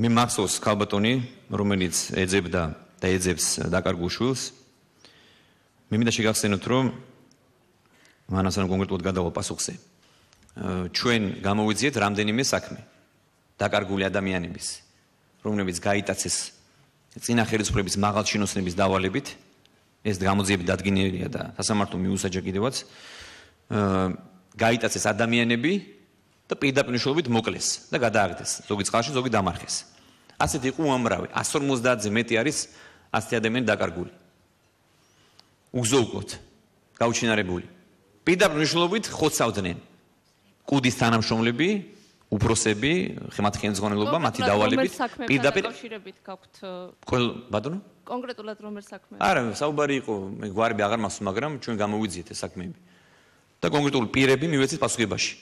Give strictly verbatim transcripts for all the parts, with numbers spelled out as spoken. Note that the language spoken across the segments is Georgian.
მე მახსოვს ქალბატონი, რომელიც ეძებდა და ეძებს დაკარგულ შვილს. მე მინდა შეგახსენოთ, რომ მანასთან კონკრეტულად გადავალ პასუხზე. ჩვენ გამოვიძიეთ რამდენიმე საქმე დაკარგული ადამიანების, რომლებიც გაიტაცეს წინა ხელისუფლების მაღალ ჩინოსნების დავალებით, ეს გამოძიები დადგენილია და სასამართლო მიუსაჯა კიდევაც, გაიტაცეს ადამიანები და პირდაპირ მნიშვნელობით მოკლეს და გადააგდეს, ზოგი წყალში, ზოგი დამარხეს. ასეთი იყო უამრავი, εκατს ორმოცდაათზე მეტი არის ასეთი ადამიანი დაკარგული. უგზო-უკვლოდ გაუჩინარებული. პირდაპირ მნიშვნელობით ხოცავდნენ კუდის თანამშრომლები, უფროსები, ხემათ ხელმძღვანელობა, მათი დავალებით, პირდაპირ კავშირებით გაქვთ ბატონო? კონკრეტულად რომელ საქმეებზე? არა, საუბარი იყო, მე გვარები აღარ მახსოვს, მაგრამ ჩვენ გამოვიძიეთ ეს საქმეები. და კონკრეტული პირები მივეცეთ პასუხებაში.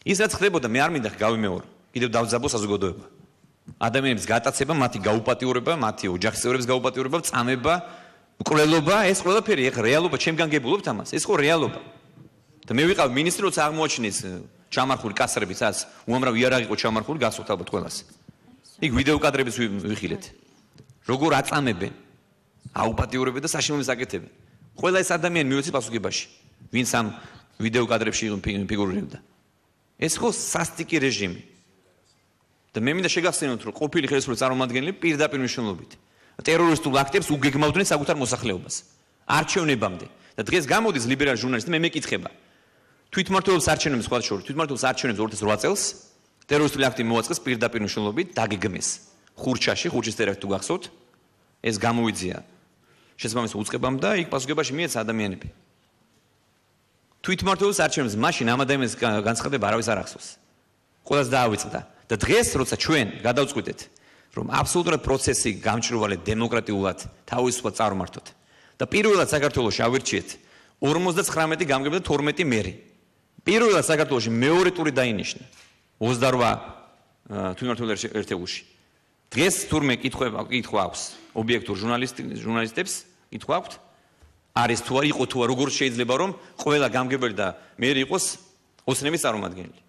ის რაც ხდებოდა, მე არ მინდა გავიმეორო. კიდევ დავძაბო საზოგადოება. ადამიანების გატაცება, მათი გაუპატიურება, მათი ოჯახის წევრების გაუპატიურება, წამება, მკვლელობა, ეს ყველაფერი ეხლა რეალობა, ჩემგან გებულობთ ამას, ეს ხო რეალობა. და მე ვიყავ მინისტრი, როცა აღმოაჩინეს ჩამარხული კასრები, სადაც უამრავი იარაღი იყო ჩამარხული, გასვოთ ალბათ ყველას. იქ ვიდეო კადრებიც ვიხილეთ. როგორ აწამებენ, აუპატიურებენ და საშინელებს აკეთებენ. ყველა ეს ადამიანი მივეცეთ პასუხებაში, ვინც ამ ვიდეო კადრებში ფიგურირებდა. ეს ხო სასტიკი რეჟიმი. და მე მინდა შეგახსენოთ, რომ ყოფილი ხელისუფლების წარმომადგენლები პირდაპირ მნიშვნელობით ტერორისტულ აქტებს უგეგმავდნენ საკუთარ მოსახლეობას. არჩევნებამდე. და დღეს გამოდის ლიბერალი ჟურნალისტი, მე მეკითხება. თვითმმართველობის არჩევნებს სხვა შორის, თვითმმართველობის არჩევნებს ორი ათას რვა წელს ტერორისტული აქტი მოაწყეს პირდაპირ მნიშვნელობით, დაგეგმეს. ხურჩაში, ხურჩის ტერაქტი თუ გახსოვთ, ეს გამოვიძია შესაბამის უწყებამ და იქ პასუხებაში მიეცა ადამიანები. თვითმმართველობის არჩევნებს მაშინ ამ ადამიანის განცხადება არავის არ ახსოვს. ყველას დაავიწყდა. და დღეს, როცა ჩვენ გადავწყვიტეთ, რომ აბსოლუტურად პროცესი გამჭვირვალე დემოკრატიულად თავისუფლად წარმართოთ და პირველად საქართველოში ავირჩიეთ ორმოცდაცხრამეტი გამგებელი და თორმეტი მერი. პირველად საქართველოში მეორე ტური დაინიშნა ოცდარვა თვითმმართველობის ერთეულში. დღეს თურმე კითხვა კითხვა აქვს ობიექტურ ჟურნალისტებს, კითხვა აქვთ, არის თუ არ იყო თუ არ როგორ შეიძლება რომ ყველა გამგებელი და მერი იყოს ოცნების წარმომადგენელი.